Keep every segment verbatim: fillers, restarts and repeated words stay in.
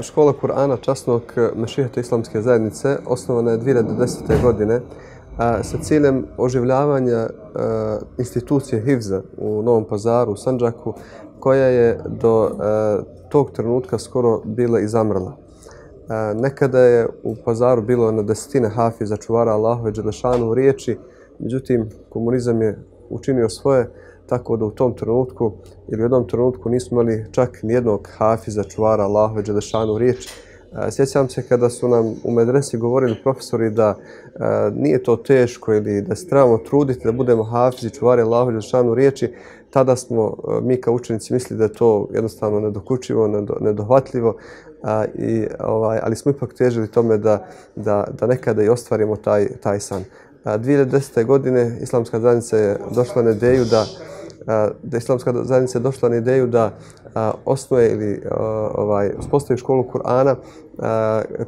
Škola Kur'ana časnog Mešihata Islamske zajednice osnovana je dvije hiljade desete. godine sa ciljem oživljavanja institucije Hifza u Novom Pazaru, u Sandžaku, koja je do tog trenutka skoro bila i zamrla. Nekada je u Pazaru bilo na desetine hafiza, čuvara Allahove dželešanu riječi, međutim komunizam je učinio svoje, tako da u tom trenutku ili u jednom trenutku nismo imali čak nijednog hafiza, čuvara Allahove dželešanu riječi. Sjećam se kada su nam u medresi govorili profesori da nije to teško ili da se trebamo truditi da budemo hafizi, čuvari Allahove dželešanu riječi, tada smo mi kao učenici mislili da je to jednostavno nedokučivo, nedohvatljivo, i, ovaj, ali smo ipak težili tome da, da, da nekada i ostvarimo taj, taj san. dvije hiljade desete. godine Islamska zajednica je došla na ideju da da Islamska zajednica je došla na ideju da osnuje ili ovaj, uspostavi školu Kur'ana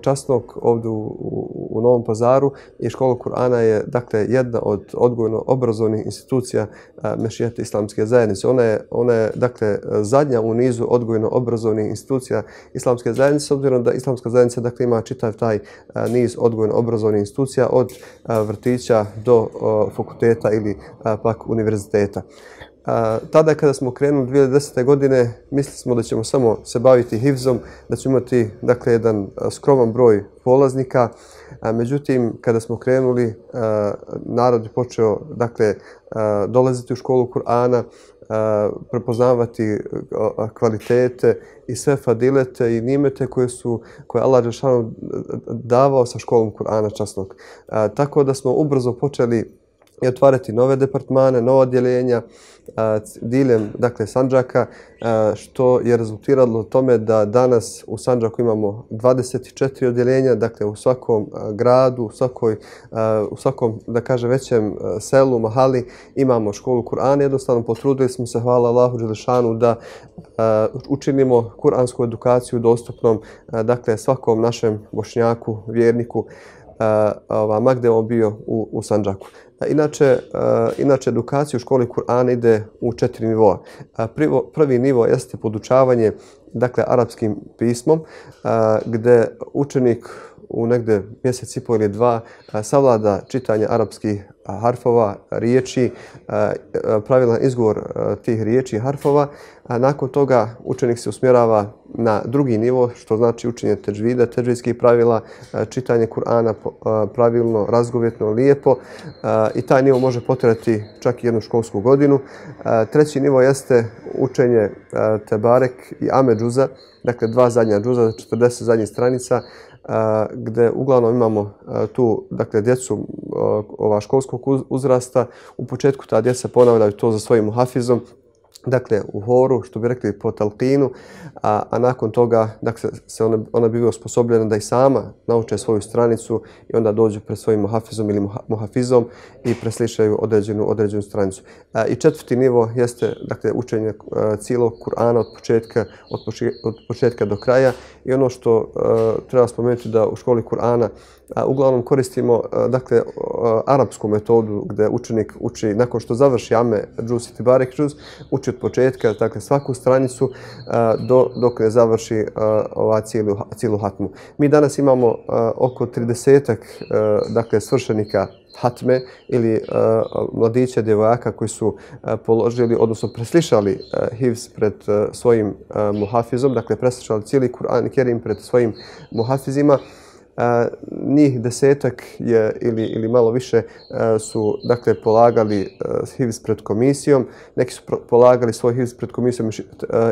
časnog ovdje u, u, u Novom Pazaru, i škola Kur'ana je dakle jedna od odgojno-obrazovnih institucija Mešihata Islamske zajednice. Ona je, ona je dakle zadnja u nizu odgojno-obrazovnih institucija Islamske zajednice, s obzirom da Islamska zajednica dakle ima čitav taj niz odgojno-obrazovnih institucija od vrtića do fakulteta ili pak univerziteta. Tada kada smo krenuli dvije hiljade desete. godine mislili smo da ćemo samo se baviti hifzom, da ćemo imati dakle jedan skroman broj polaznika. Međutim, kada smo krenuli, narod je počeo dakle dolaziti u školu Kur'ana, prepoznavati kvalitete i sve fadilete i nimete koje su koje Allah dželešanu davao sa školom Kur'ana časnog. Tako da smo ubrzo počeli i otvarati nove departmane, nova odjeljenja diljem dakle Sandžaka, što je rezultiralo tome da danas u Sandžaku imamo dvadeset četiri odjeljenja, dakle u svakom gradu, u, svakoj, u svakom da kaže većem selu, mahali imamo školu Kur'ana. Jednostavno potrudili smo se, hvala Allahu dželešanu, da učinimo kuransku edukaciju dostupnom dakle svakom našem Bošnjaku, vjerniku, ma gde on bio u, u Sandžaku. Inače, inače edukacija u školi Kur'ana ide u četiri nivoa. Prvi nivo jeste podučavanje dakle arapskim pismom, gde učenik u negde mjesec i pol ili dva savlada čitanje arapskih harfova, riječi, pravilan izgovor tih riječi i harfova. Nakon toga učenik se usmjerava na drugi nivo, što znači učenje teđvida, teđvidskih pravila, čitanje Kur'ana pravilno, razgovjetno, lijepo, i taj nivo može potrajati čak i jednu školsku godinu. Treći nivo jeste učenje Tebarek i Ame džuza, dakle dva zadnja džuza, četrdeset zadnjih stranica, gde uglavnom imamo tu dakle djecu ova školskog uzrasta. U početku ta djeca ponavljaju to za svojim muhafizom, dakle u horu, što bi rekli po talqinu, a, a nakon toga dakle, se ona, ona biva osposobljena da i sama nauče svoju stranicu i onda dođu pred svojim muhafizom ili muhafizom i preslišaju određenu, određenu stranicu. A, I četvrti nivo jeste dakle, učenje a, cijelog Kur'ana od početka, od, početka, od početka do kraja, i ono što a, treba spomenuti da u školi Kur'ana a, uglavnom koristimo a, dakle, a, arapsku metodu gdje učenik uči nakon što završi Ame džuz i Tebarek džuz, uči od početka, dakle svaku stranicu do, dok ne završi ova cijelu, cijelu hatmu. Mi danas imamo oko tridesetak dakle svršenika hatme ili uh, mladića, djevojaka koji su uh, položili, odnosno preslišali uh, hifz pred uh, svojim uh, muhafizom, dakle preslišali cijeli Kur'an Kerim pred svojim muhafizima. Uh, njih desetak je ili, ili malo više uh, su dakle polagali uh, hifz pred komisijom, neki su polagali svoj hifz pred komisijom uh,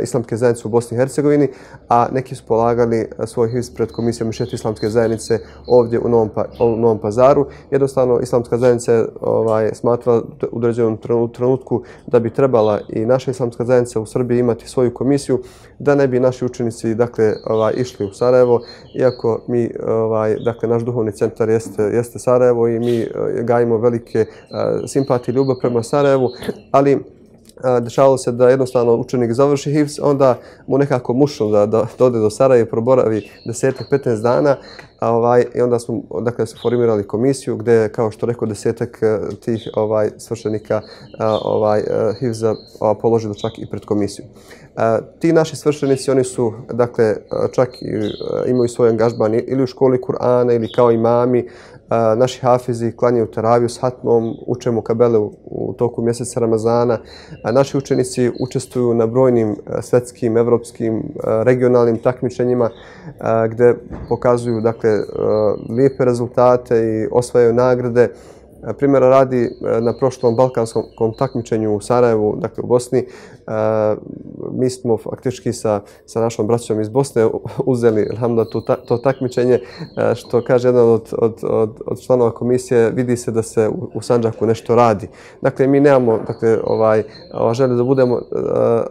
Islamske zajednice u Bosni i Hercegovini, a neki su polagali uh, svoj hifz pred komisijom Mešihata Islamske zajednice ovdje u Novom, pa, u Novom Pazaru. Jednostavno Islamska zajednica je ovaj, smatrala u određenom trenutku da bi trebala i naša Islamska zajednica u Srbiji imati svoju komisiju, da ne bi naši učenici dakle ovaj, išli u Sarajevo, iako mi ovaj, dakle, naš duhovni centar jeste, jeste Sarajevo i mi gajimo velike simpatije i ljubav prema Sarajevu, ali dešavalo se da jednostavno učenik završi hifz, onda mu nekako mušno da, da, da ode do Sarajeva i proboravi deset do petnaest dana, A, ovaj, I onda smo dakle, formirali komisiju gdje, kao što rekao, desetak tih ovaj, svršenika ovaj, hifza položili čak i pred komisiju. A, ti naši svršenici, oni su, dakle, čak i, imaju svoj angažman ili u školi Kur'ana ili kao imami. A, naši hafizi klanjaju teraviju s hatmom, uče mukabele u, u toku mjeseca Ramazana. A, naši učenici učestvuju na brojnim svjetskim, evropskim, regionalnim takmičenjima a, gdje pokazuju, dakle, a, lijepe rezultate i osvajaju nagrade. Primjera radi, na prošlom balkanskom takmičenju u Sarajevu, dakle u Bosni, mi smo faktički sa, sa našom braćom iz Bosne uzeli alhamdulillah, to, to takmičenje, što kaže jedan od, od, od, od članova komisije, vidi se da se u, u Sandžaku nešto radi. Dakle, mi nemamo dakle, ovaj, ovaj, želje da budemo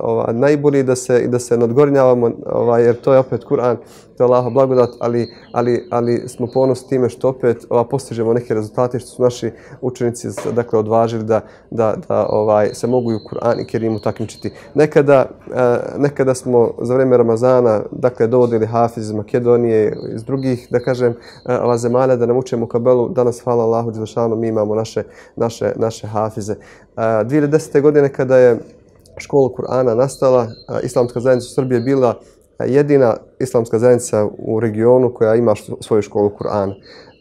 ovaj, najbolji da se, i da se nadgornjavamo, ovaj, jer to je opet Kur'an, to je Allahova blagodat, ali, ali, ali smo ponosni time što opet ova, postižemo neke rezultate, što su naši učenici dakle, odvažili da, da, da ovaj, se mogu i u Kur'an i Kerimu takmičiti. Nekada, eh, nekada smo za vrijeme Ramazana dakle, dovodili hafiz iz Makedonije, iz drugih, da kažem, eh, zemalja da nam uče mukabelu. Danas, hvala Allahu dželešanu, mi imamo naše, naše, naše hafize. Eh, dvije hiljade desete. godine kada je škola Kur'ana nastala, eh, Islamska zajednica u Srbiji je bila jedina islamska zajednica u regionu koja ima svoju školu Kur'ana.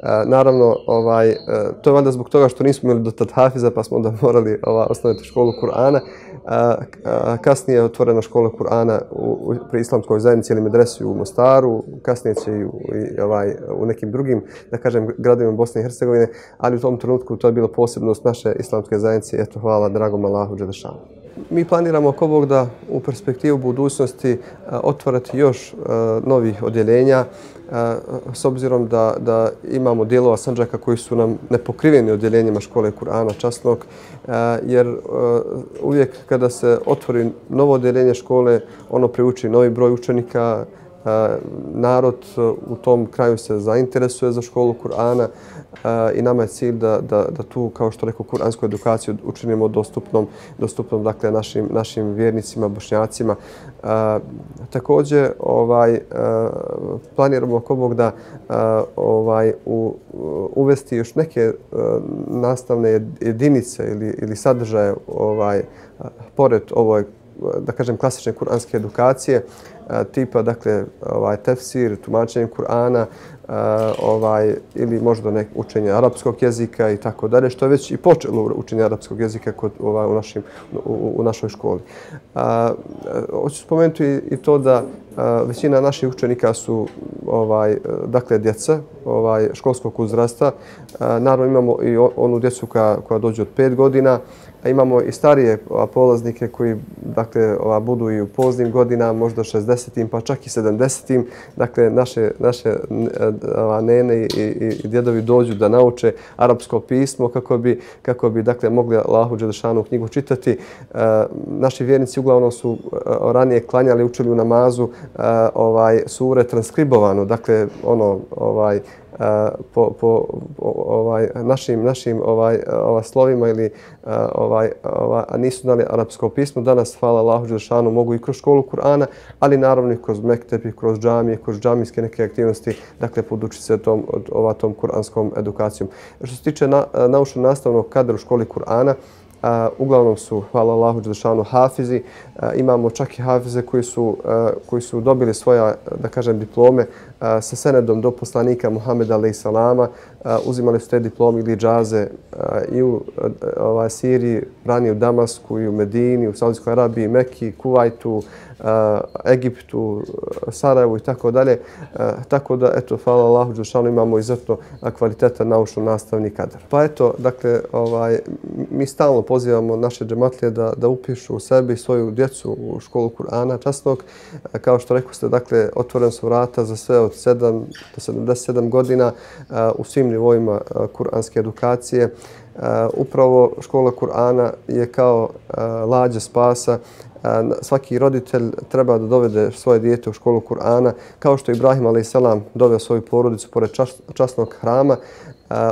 E, naravno, ovaj, e, to je valjda zbog toga što nismo imali do tad hafiza, pa smo onda morali ova, osnovati školu Kur'ana. E, kasnije je otvorena škola Kur'ana u, u, pri islamskoj zajednici ili medresi u Mostaru, kasnije će i, u, i ovaj, u nekim drugim, da kažem, gradovima Bosne i Hercegovine, ali u tom trenutku to je bila posebnost naše islamske zajednice. Eto, hvala dragom Allahu dželešanu. Mi planiramo oko Bog da u perspektivu budućnosti otvoriti još novih odjeljenja, s obzirom da, da imamo dijelova Sandžaka koji su nam nepokriveni odjeljenjima škole Kur'ana časnog, jer uvijek kada se otvori novo odjeljenje škole, ono priuči novi broj učenika, narod u tom kraju se zainteresuje za školu Kur'ana i nama je cilj da, da, da tu, kao što rekao, kuransku edukaciju učinimo dostupnom, dostupnom dakle, našim, našim vjernicima, bošnjacima. E, također ovaj, e, planiramo oko Bog da e, ovaj, u, uvesti još neke e, nastavne jedinice ili, ili sadržaje ovaj, pored ovoj, da kažem, klasične kuranske edukacije, tipa, dakle, ovaj, tefsir, tumačenje Kur'ana, ovaj, ili možda nek učenje arapskog jezika i tako dalje, što je već i počelo učenje arapskog jezika kod, ovaj, u, našim, u, u našoj školi. A, hoću spomenuti i to da a, većina naših učenika su ovaj, dakle, djeca ovaj, školskog uzrasta. A, naravno imamo i onu djecu koja, koja dođe od pet godina, a imamo i starije ova, polaznike koji dakle, ova, budu i u poznim godinama, možda šezdesetim pa čak i sedamdesetim. Dakle, naše, naše ova, nene i, i, i djedovi dođu da nauče arapsko pismo kako bi, kako bi dakle, mogli Allahu dželešanu knjigu čitati. E, naši vjernici uglavnom su ranije klanjali, učili u namazu e, ovaj, sure transkribovano, dakle ono ovaj Uh, po, po ovaj, našim, našim ovaj, ovaj, slovima ili uh, ovaj, ovaj, a nisu znali arapsko pismo. Danas, hvala Allahu dželešanu, mogu i kroz školu Kur'ana, ali naravno i kroz mektepi, kroz džamije, kroz džamijske neke aktivnosti, dakle, podučiti se tom, ova, tom kuranskom edukacijom. Što se tiče na, naučno-nastavnog kadra u školi Kur'ana, Uh, uglavnom su, hvala Allahu dželešanu, hafizi. Uh, imamo čak i hafize koji su, uh, koji su dobili svoja, da kažem, diplome uh, sa senedom do poslanika Muhameda alejhi salama. Uh, uzimali su te diplome ili džaze uh, i u uh, ovaj, Siriji, ranije u Damasku, i u Medini, u Saudijskoj Arabiji, Mekki, Kuvajtu, uh, Egiptu, Sarajevu i tako dalje. Uh, tako da, eto, hvala Allahu dželešanu, imamo izuzetno kvalitetan naučno-nastavni kadar. Pa eto, dakle, ovaj, mi stalno pozivamo naše džematlije da, da upišu u sebi i svoju djecu u školu Kur'ana časnog. Kao što rekao ste, dakle, otvorena su vrata za sve od sedam do sedamdeset sedam godina u svim nivoima kuranske edukacije. Upravo škola Kur'ana je kao lađa spasa. Svaki roditelj treba da dovede svoje dijete u školu Kur'ana, kao što je Ibrahim alejhi salam doveo svoju porodicu pored časnog hrama.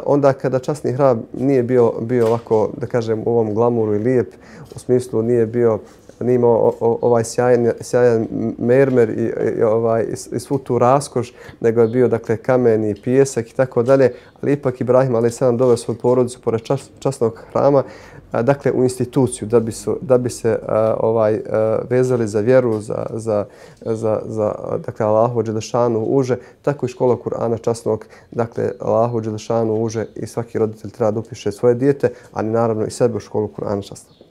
Onda kada časni hram nije bio, bio ovako, da kažem, u ovom glamuru i lijep, u smislu nije bio nije imao ovaj sjajan, sjajan mermer i, i, ovaj, i, i svu tu raskoš, nego je bio dakle, kamen i pijesak i tako dalje, ali ipak Ibrahim alejhi selam doveo svoju porodicu pored čas, časnog hrama, a, dakle u instituciju da bi, su, da bi se a, ovaj, a, vezali za vjeru, za, za, za, za dakle, Allahovu dželešanu uže, tako i škola Kur'ana časnog, dakle Allahovu dželešanu uže i svaki roditelj treba da upiše svoje dijete, ali naravno i sebe u školu Kur'ana časnog.